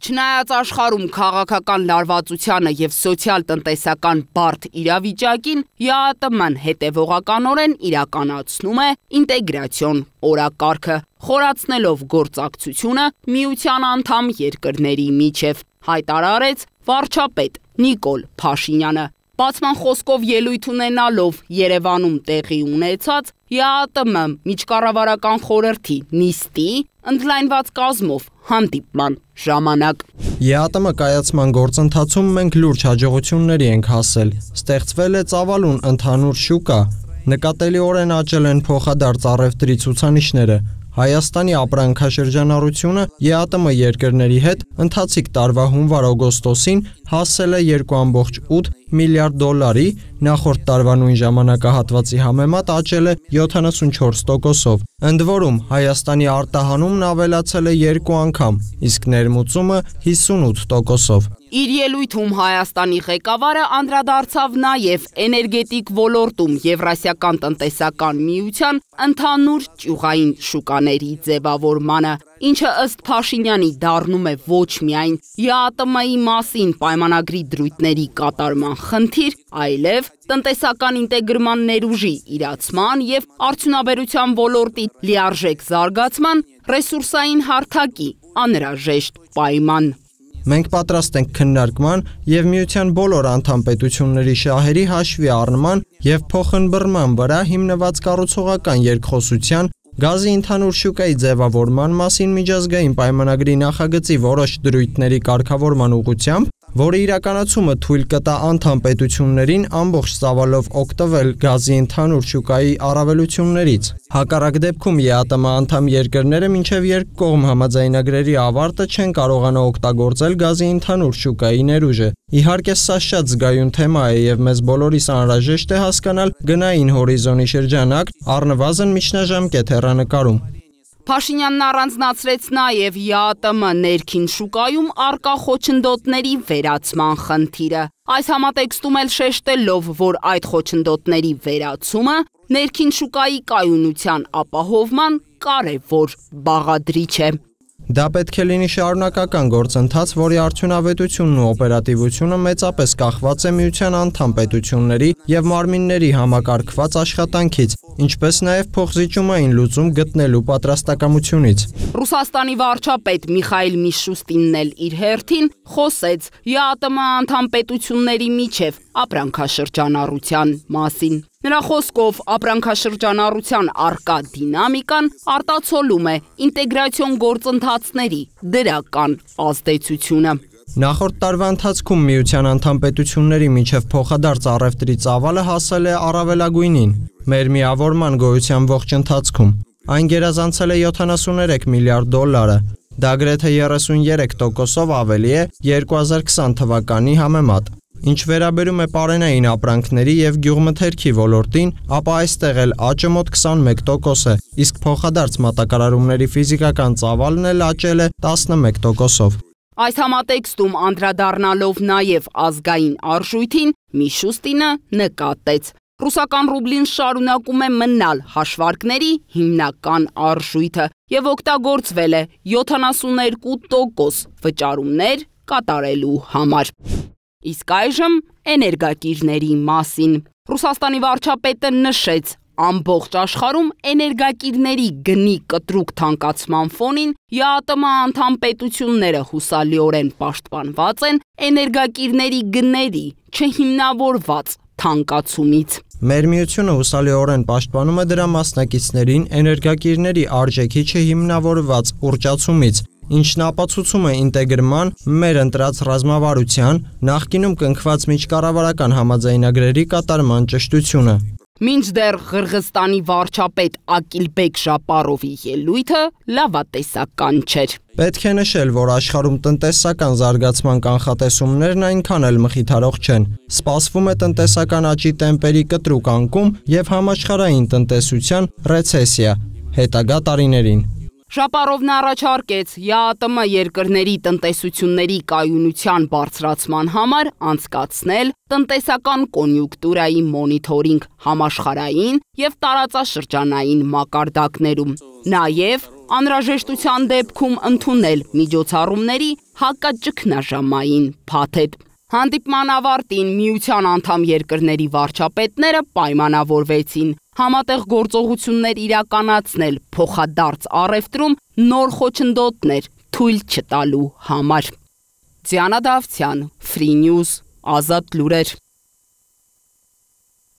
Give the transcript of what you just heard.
Չնայած աշխարհում քաղաքական լարվածությանը եւ սոցիալ-տնտեսական բարդ իրավիճակին, ԵԱՏՄ-ն հետևողականորեն իրականացնում է ինտեգրացիոն օրակարգը, խորացնելով գործակցությունը միության անդամ երկրների միջև, հայտարարեց վարչապետ Նիկոլ Փաշինյանը։ Բացման խոսքով ելույթ ունենալով Երևանում տեղի ունեցած ԵԱՏՄ միջկառավարական խորհրդի նիստի ընդլայնված կազմով հանդիպման ժամանակ։ ԵԱՏՄ կայացման գործընթացում մենք լուրջ հաջողությունների ենք հասել։ Ստեղծվել է ծավալուն ընդհանուր շուկա, նկատելիորեն աճել են փոխադարձ առևտրի ցուցանիշները։ Հայաստանի ապրանքաշրջանառությունը ԵԱՏՄ երկրների հետ ընթացիկ տարվա հունվար-օգոստոսին հասել է 2.8 միլիարդ դոլարի, նախորդ տարվա նույն ժամանակահատվածի համեմատ աճել է 74%-ով։ Ընդ որում Հայաստանի արտահանումն ավելացել է 2 անգամ, իսկ ներմուծումը 58%-ով։ Իր ելույթում Հայաստանի ղեկավարը անդրադարձավ նաև էներգետիկ ոլորտում Եվրասիական տնտեսական միության ընդհանուր ճյուղային շուկաների ձևավորմանը, ինչը ըստ Փաշինյանի դառնում է ոչ միայն ԵԱՏՄ-ի մասին պայմանագրի դրույթների կատարման խնդիր, այլև տնտեսական ինտեգրման ներուժի իրացման եւ արդյունաբերության ոլորտի լիարժեք զարգացման ռեսուրսային հարթակի անհրաժեշտ պայման։ Մենք պատրաստ ենք քննարկման եւ միության բոլոր անդամ պետությունների շահերի հաշվի առնման եւ փոխըմբռնման վրա հիմնված կառուցողական երկխոսության, գազի ընդհանուր շուկայի ձևավորման մասին միջազգային պայմանագրի նախագծի որոշ դրույթների կարգավորման ուղղությամբ, որը իրականացումը թույլ կտա անդամ պետություններին ամբողջ ծավալով օգտվել գազի ընդհանուր շուկայի առավելություններից։ Հակառակ դեպքում ԵԱՏՄ անդամ երկրները մինչև երկկողմ համաձայնագրերի ավարտը չեն կարողանա օգտագործել գազի ընդհանուր շուկայի ներուժը։ Իհարկե սա շատ զգայուն թեմա է եւ մեզ բոլորիս անհրաժեշտ է հասկանալ գնային հորիզոնի շրջանակ, առնվազն միջնաժամկետ հեռանկարում։ Փաշինյանն առանձնացրեց նաև ԵԱՏՄ ներքին շուկայում առկա խոչընդոտների վերացման խնդիրը։ Այս համատեքստում էլ շեշտելով, որ այդ խոչընդոտների վերացումը ներքին շուկայի կայունության ապահովման կարևոր բաղադրիչ է։ Դա պետք է լինի շարունակական գործընթաց, որի արդյունավետությունն ու օպերատիվությունը մեծապես կախված է միության անդամ պետությունների եւ մարմինների համակարգված աշխատանքից, ինչպես նաեւ փոխզիջումային լուծում գտնելու պատրաստակամությունից։ Ռուսաստանի վարչապետ Միխայիլ Միշուստինն էլ իր հերթին խոսեց ԵԱՏՄ անդամ պետությունների միջև ապրանքաշրջանառության մասին։ Նրա խոսքով ապրանքաշրջանառության առկա դինամիկան արտացոլում է ինտեգրացիոն գործընթացների դրական ազդեցությունը։ Նախորդ տարվա ընթացքում միության անդամ պետությունների միջև փոխադարձ առևտրի ծավալը հասել է առավելագույնին մեր միավորման գոյության ողջ ընթացքում։ Այն գերազանցել է 73 միլիարդ դոլարը։ Դա գրեթե 33%-ով ավելի է 2020 թվականի համեմատ։ Ինչ վերաբերում է պարենային ապրանքների եւ գյուղմթերքի ոլորտին, ապա այստեղ էլ աճը մոտ 21% է, իսկ փոխադարձ մատակարարումների ֆիզիկական ծավալն էլ աճել է 11%-ով։ Այս համատեքստում անդրադառնալով նաև ազգային արժույթին, Միշուստինը նկատեց. Ռուսական ռուբլին շարունակում է մնալ հաշվարկների հիմնական արժույթը եւ օգտագործվել է 72% վճարումներ կատարելու համար։ Իսկ այժմ էներգակիրների մասին։ Ռուսաստանի վարչապետը նշեց, ամբողջ աշխարհում էներգակիրների գնի կտրուկ թանկացման ֆոնին ԵԱՏՄ անդամ պետությունները հուսալիորեն պաշտպանված են էներգակիրների գների չհիմնավորված թանկացումից։ Մեր միությունը հուսալիորեն պաշտպանում է դրա մասնակիցներին էներգակիրների արժեքի չհիմնավորված ուռճացումից, ինչն ապացուցում է ինտեգրման մեր ընտրած ռազմավարության նախկինում կնքված միջկառավարական համաձայնագրերի կատարման ճշտությունը։ Մինչդեռ Ղրղստանի վարչապետ Ակիլբեկ Ժապարովի ելույթը լավատեսական չէր։ Պետք է նշել, որ աշխարհում տնտեսական զարգացման կանխատեսումներն այնքան էլ մխիթարող չեն։ Սպասվում է տնտեսական աճի տեմպերի կտրուկ անկում եւ համաշխարհային տնտեսության ռեցեսիա հետագա տարիներին։ Ժապարովն առաջարկեց ԵԱՏՄ երկրների տնտեսությունների կայունության բարձրացման համար անցկացնել տնտեսական կոնյուկտուրայի մոնիթորինգ համաշխարհային եւ տարածաշրջանային մակարդակներում, նաեւ Անհրաժեշտության դեպքում ընդունել միջոցառումների հակաճգնաժամային փաթեթ։ Հանդիպման ավարտին միության անդամ երկրների վարչապետները պայմանավորվեցին համատեղ գործողություններ իրականացնել փոխադարձ առևտրում նոր խոչընդոտներ թույլ չտալու համար։ Դիանա Դավթյան, Free News, Ազատ լուրեր։